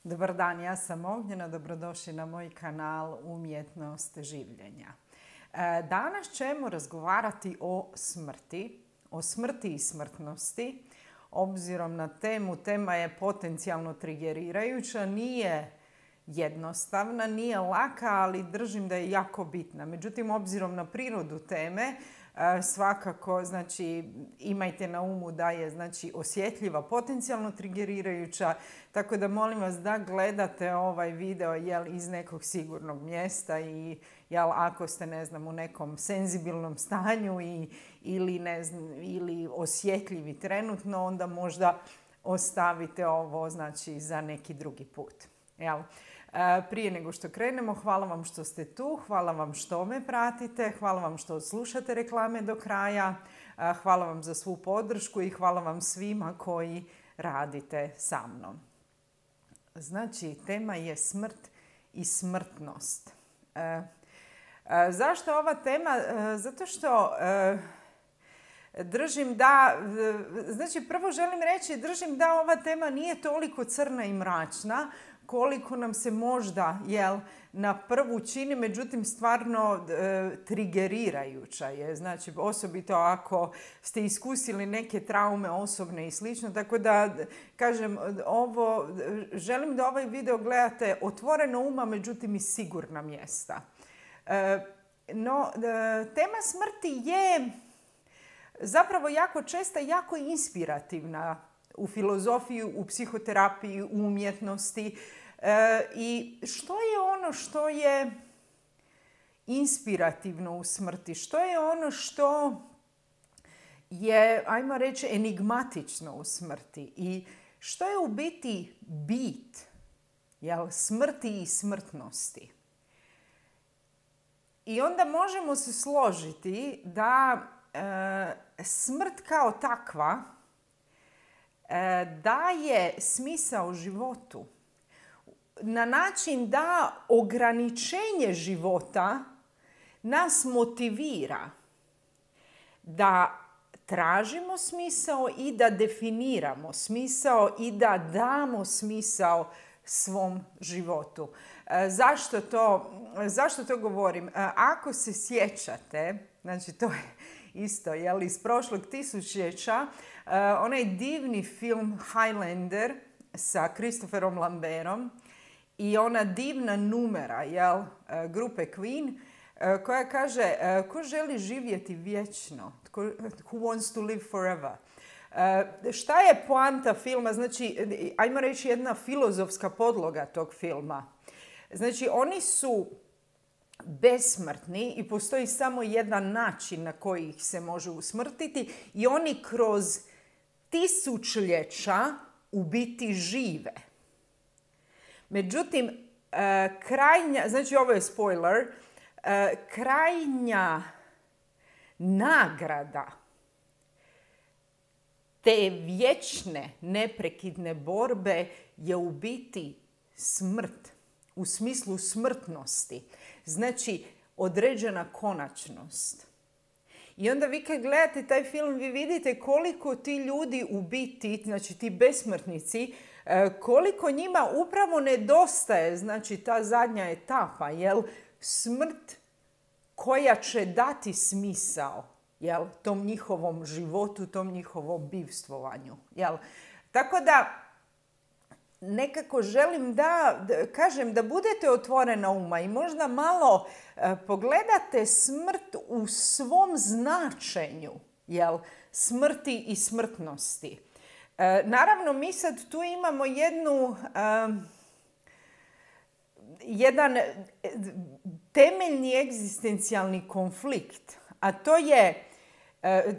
Dobar dan, ja sam Ognjena, dobrodošli na moj kanal Umjetnost življenja. Danas ćemo razgovarati o smrti i smrtnosti. Obzirom na tema je potencijalno trigerirajuća, nije jednostavna, nije laka, ali držim da je jako bitna. Međutim, obzirom na prirodu teme, svakako imajte na umu da je osjetljiva, potencijalno trigerirajuća, tako da molim vas da gledate ovaj video iz nekog sigurnog mjesta i ako ste u nekom senzibilnom stanju ili osjetljivi trenutno, onda možda ostavite ovo za neki drugi put. Prije nego što krenemo, hvala vam što ste tu, hvala vam što me pratite, hvala vam što slušate reklame do kraja, hvala vam za svu podršku i hvala vam svima koji radite sa mnom. Tema je smrt i smrtnost. Zašto ova tema? Zato što držim da, prvo želim reći, držim da ova tema nije toliko crna i mračna koliko nam se možda na prvu čini, međutim stvarno trigerirajuća je. Osobito ako ste iskusili neke traume osobne i slično. Tako da, kažem, želim da ovaj video gledate otvoreno uma, međutim iz sigurna mjesta. No, tema smrti je zapravo jako česta i jako inspirativna u filozofiji, u psihoterapiji, u umjetnosti. I što je ono što je inspirativno u smrti? Što je ono što je, ajmo reći, enigmatično u smrti? I što je u biti bit smrti i smrtnosti? I onda možemo se složiti da smrt kao takva daje smisao životu na način da ograničenje života nas motivira da tražimo smisao i da definiramo smisao i da damo smisao svom životu. Zašto to govorim? Ako se sjećate, to je isto iz prošlog tisućljeća, onaj divni film Highlander sa Christopherom Lambertom i ona divna numera grupe Queen koja kaže ko želi živjeti vječno? Who wants to live forever? Šta je poanta filma? Ajmo reći jedna filozofska podloga tog filma. Oni su besmrtni i postoji samo jedan način na koji ih se može usmrtiti i oni kroz tisućljeća u biti žive. Međutim, ovo je spoiler, krajnja nagrada te vječne, neprekidne borbe je u biti smrt, u smislu smrtnosti. Određena konačnost. I onda vi kad gledate taj film, vi vidite koliko ti ljudi u biti, ti besmrtnici, koliko njima upravo nedostaje, ta zadnja etapa, smrt koja će dati smisao, tom njihovom životu, tom njihovom bivstvovanju. Tako da, nekako želim da kažem da budete otvorena uma i možda malo pogledate smrt u svom značenju, smrti i smrtnosti. Naravno, mi sad tu imamo jedan temeljni egzistencijalni konflikt, a to je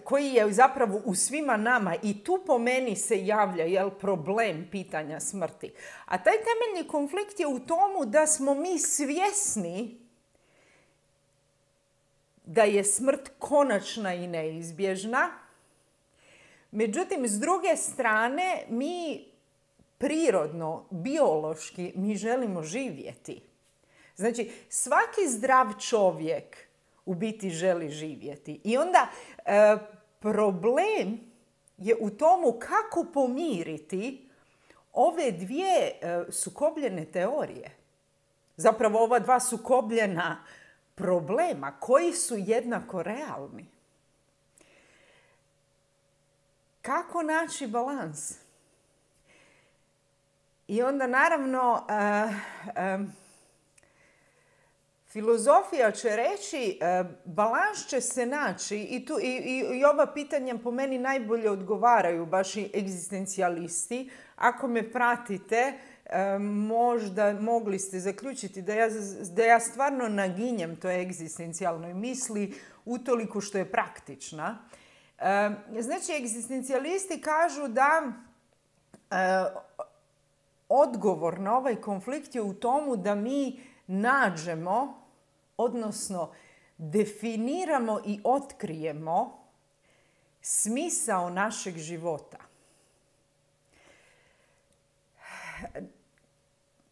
koji je zapravo u svima nama i tu po meni se javlja problem pitanja smrti. A taj temeljni konflikt je u tomu da smo mi svjesni da je smrt konačna i neizbježna. Međutim, s druge strane, mi prirodno, biološki, mi želimo živjeti. Svaki zdrav čovjek u biti želi živjeti. I onda problem je u tomu kako pomiriti ove dvije sukobljene teorije, zapravo ova dva sukobljena problema koji su jednako realni. Kako naći balans? I onda naravno filozofija će reći balans će se naći i ova pitanja po meni najbolje odgovaraju baš i egzistencijalisti. Ako me pratite, možda mogli ste zaključiti da ja stvarno naginjem toj egzistencijalnoj misli utoliko što je praktična. Znači, egzistencijalisti kažu da odgovor na ovaj konflikt je u tomu da mi nađemo, odnosno definiramo i otkrijemo smisao našeg života.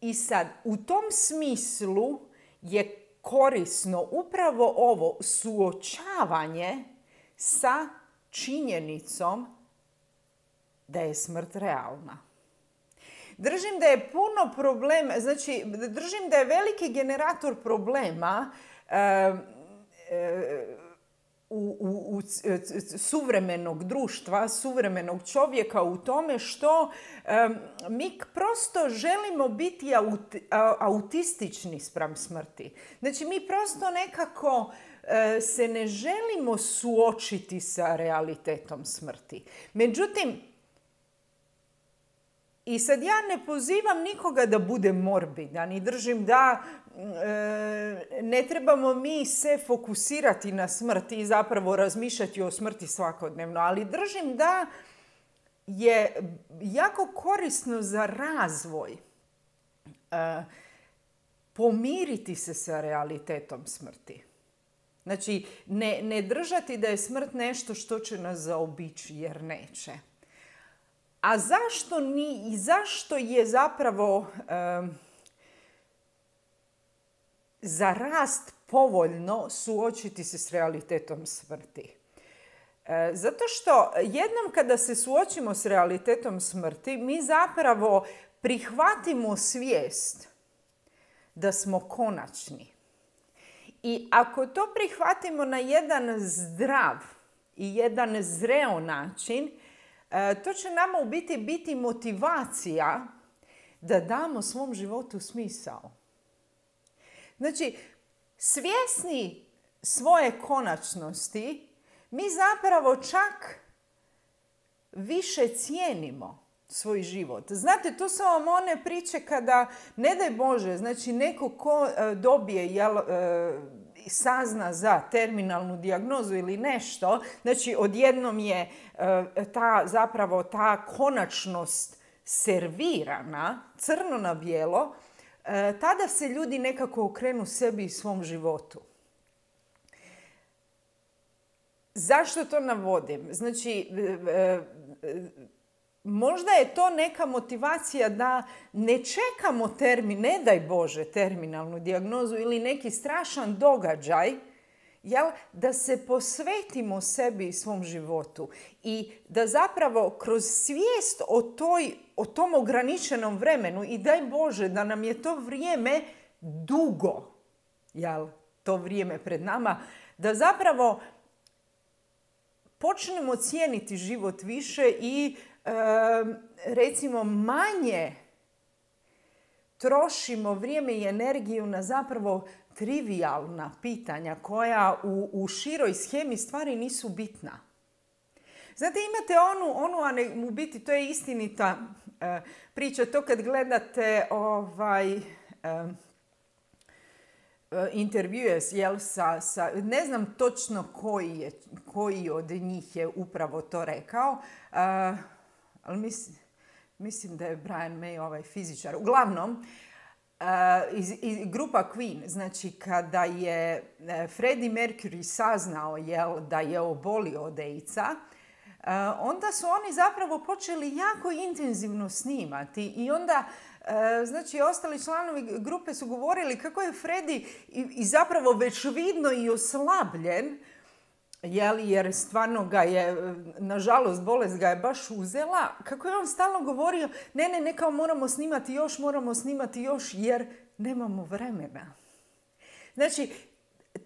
I sad, u tom smislu je korisno upravo ovo suočavanje sa činjenicom da je smrt realna. Držim da je puno problema, znači držim da je veliki generator problema u suvremenog društva, suvremenog čovjeka u tome što mi prosto želimo biti autistični spram smrti. Znači mi prosto nekako se ne želimo suočiti sa realitetom smrti. Međutim, i sad ja ne pozivam nikoga da bude morbidan i držim da ne trebamo mi se fokusirati na smrt i zapravo razmišljati o smrti svakodnevno, ali držim da je jako korisno za razvoj pomiriti se sa realitetom smrti. Znači, ne držati da je smrt nešto što će nas zaobići, jer neće. A zašto i zašto je zapravo za rast povoljno suočiti se s realitetom smrti? Zato što jednom kada se suočimo s realitetom smrti, mi zapravo prihvatimo svijest da smo konačni. I ako to prihvatimo na jedan zdrav i jedan zreo način, to će nama u biti motivacija da damo svom životu smisao. Znači, svjesni svoje konačnosti, mi zapravo čak više cijenimo svoj život. Znate, to su vam one priče kada, ne daj Bože, znači neko ko dobije, sazna za terminalnu dijagnozu ili nešto, znači odjednom je ta konačnost servirana, crno na bijelo, tada se ljudi nekako okrenu sebi i svom životu. Zašto to navodim? Znači, možda je to neka motivacija da ne čekamo ne daj Bože, terminalnu dijagnozu ili neki strašan događaj, da se posvetimo sebi i svom životu i da zapravo kroz svijest o tom ograničenom vremenu i daj Bože da nam je to vrijeme dugo, to vrijeme pred nama, da zapravo počnemo cijeniti život više i recimo manje trošimo vrijeme i energiju na zapravo trivijalna pitanja koja u široj shemi stvari nisu bitna. Znate, imate u biti to je istinita priča, to kad gledate intervjue ne znam točno koji od njih je upravo to rekao, ali mislim da je Brian May fizičar. Uglavnom, grupa Queen, znači kada je Freddie Mercury saznao da je obolio od AIDS-a, onda su oni zapravo počeli jako intenzivno snimati i onda znači ostali članovi grupe su govorili kako je Freddie i zapravo već vidno i oslabljen jer stvarno ga je, nažalost, bolest ga je baš uzela, kako je on stalno govorio, ne, kao moramo snimati još, jer nemamo vremena. Znači,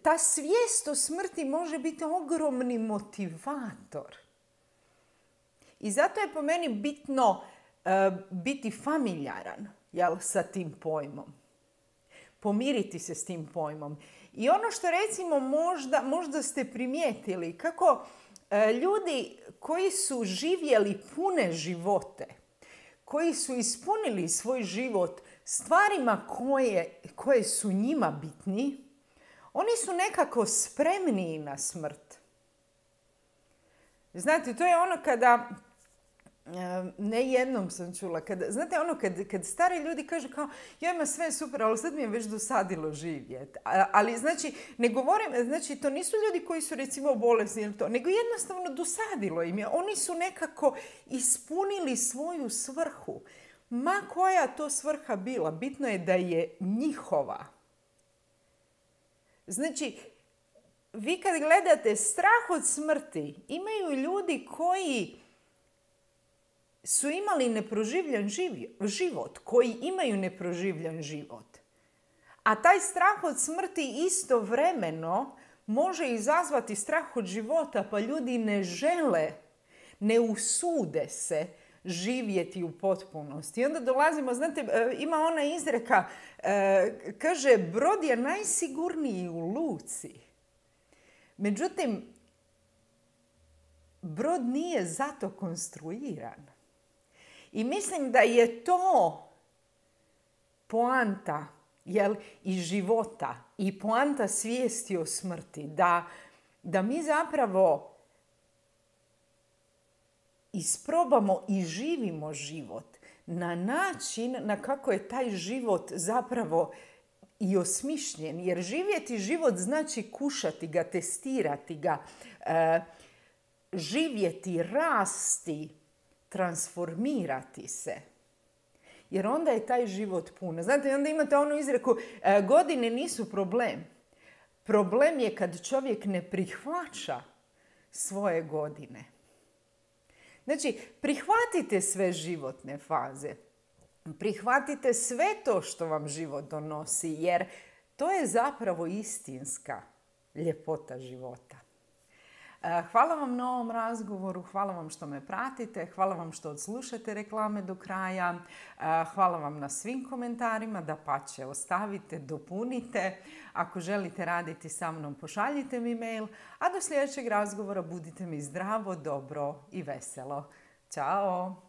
ta svijest o smrti može biti ogromni motivator. I zato je po meni bitno biti familijaran, sa tim pojmom. Pomiriti se s tim pojmom. I ono što recimo možda ste primijetili, kako ljudi koji su živjeli pune živote, koji su ispunili svoj život stvarima koje su njima bitni, oni su nekako spremniji na smrt. Znate, to je ono kada, ne jednom sam čula, znate ono kad stari ljudi kažu kao, ja ima sve super, ali sad mi je već dosadilo živjeti. Ali znači, ne govorim, znači to nisu ljudi koji su recimo bolesni ili to, nego jednostavno dosadilo im je. Oni su nekako ispunili svoju svrhu. Ma koja to svrha bila, bitno je da je njihova. Znači, vi kad gledate strah od smrti, imaju ljudi koji su imali neproživljen život, koji imaju neproživljen život. A taj strah od smrti istovremeno može izazvati strah od života, pa ljudi ne žele, ne usude se živjeti u potpunosti. I onda dolazimo, znate, ima ona izreka, kaže, brod je najsigurniji u luci. Međutim, brod nije zato konstruiran. I mislim da je to poanta i života i poanta svijesti o smrti. Da mi zapravo isprobamo i živimo život na način na kako je taj život zapravo i osmišljen. Jer živjeti život znači kušati ga, testirati ga, živjeti, rasti, transformirati se. Jer onda je taj život pun. Znate, onda imate onu izreku, godine nisu problem. Problem je kad čovjek ne prihvaća svoje godine. Znači, prihvatite sve životne faze. Prihvatite sve to što vam život donosi, jer to je zapravo istinska ljepota života. Hvala vam na ovom razgovoru, hvala vam što me pratite, hvala vam što odslušate reklame do kraja, hvala vam na svim komentarima, dapače ostavite, dopunite. Ako želite raditi sa mnom, pošaljite mi mail, a do sljedećeg razgovora budite mi zdravo, dobro i veselo. Ćao!